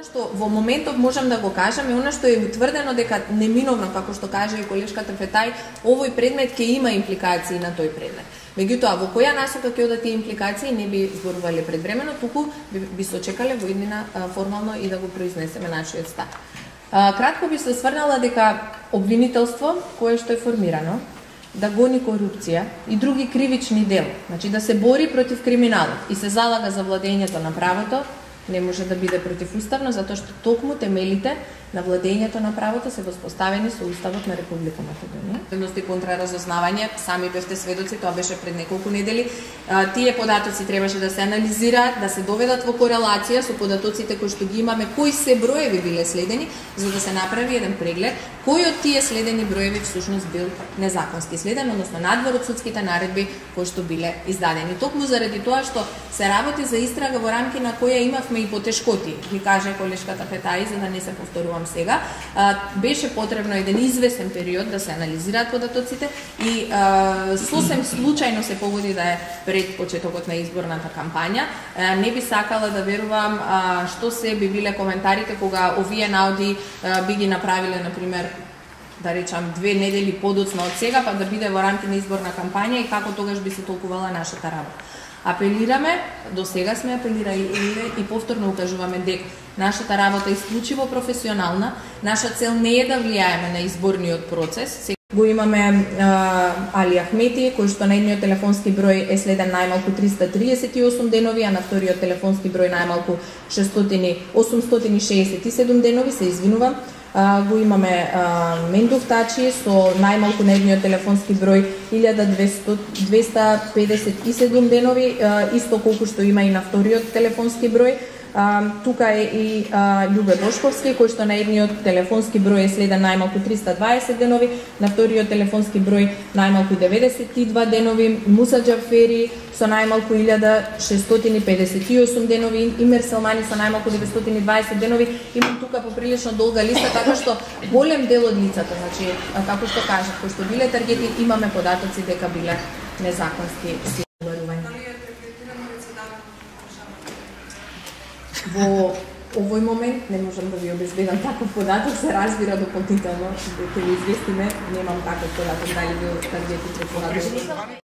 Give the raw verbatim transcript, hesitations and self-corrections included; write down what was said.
што во моментов можам да го кажам е она што е утврдено дека неминовно, како што каже и колешката Фетај, овој предмет ќе има импликации на тој предмет. Меѓутоа, во која насока ќе одат тие импликации не би зборувале предвремено, туку би, би се очекале во иднина формално и да го произнесеме нашиот став. Кратко би се сврнала дека обвинителство кое што е формирано да гони корупција и други кривични дела, значи да се бори против криминалот и се залага за владењето на правото, не може да биде противуставно, затоа што токму темелите на владењето на правото се воспоставени со Уставот на Република Македонија. Предности контраразузнавање, сами бевте сведоци, тоа беше пред неколку недели. Тие податоци требаше да се анализираат, да се доведат во корелација со податоците кои што ги имаме, кои се броеви биле следени, за да се направи еден преглед кој од тие следени броеви всушност бил незаконски следен, односно надвор од судските наредби кои што биле издадени. Токму заради тоа што се работи за истрага во рамки на која имавме и потешкоти, ги каже колешката Фетај, за да не се повторувам сега, беше потребно еден извесен период да се анализираат податоците и сосем случајно се погоди да е пред почетокот на изборната кампања. Не би сакала да верувам што се би биле коментарите кога овие наоди би ги направиле, например, да речам, две недели подоцна од сега, па да биде во рамки на изборна кампања и како тогаш би се толкувала нашата работа. Апелираме, до сега сме апелирали и повторно укажуваме дека нашата работа е исклучиво професионална, наша цел не е да влијаеме на изборниот процес. Го имаме а, Али Ахмети, кој што на едниот телефонски број е следен најмалку триста триесет и осум денови, а на вториот телефонски број најмалку осумстотини шеесет и седум денови, се извинувам. Uh, го имаме uh, Мендов Тачи со најмалку на едниот телефонски број илјада двеста педесет и седум денови, uh, исто колку што има и на вториот телефонски број. Uh, тука е и uh, Љубе Бошковски, кој што на едниот телефонски број е следен најмалку триста дваесет денови, на вториот телефонски број најмалку деветдесет и два денови, Муса Џафери со најмалку илјада шестстотини педесет и осум денови, Имер Селмани со најмалку деветстотини и дваесет денови. Имам тука поприлично долга листа, така што голем дел од лицата, значи, како што кажав, кои што биле таргети, имаме податоци дека биле незаконски силувања. Во овој момент не можам да ви обезбедам таков податок, се разбира дополнително, ќе ви известиме, немам таков податок дали бил таргетит препораден.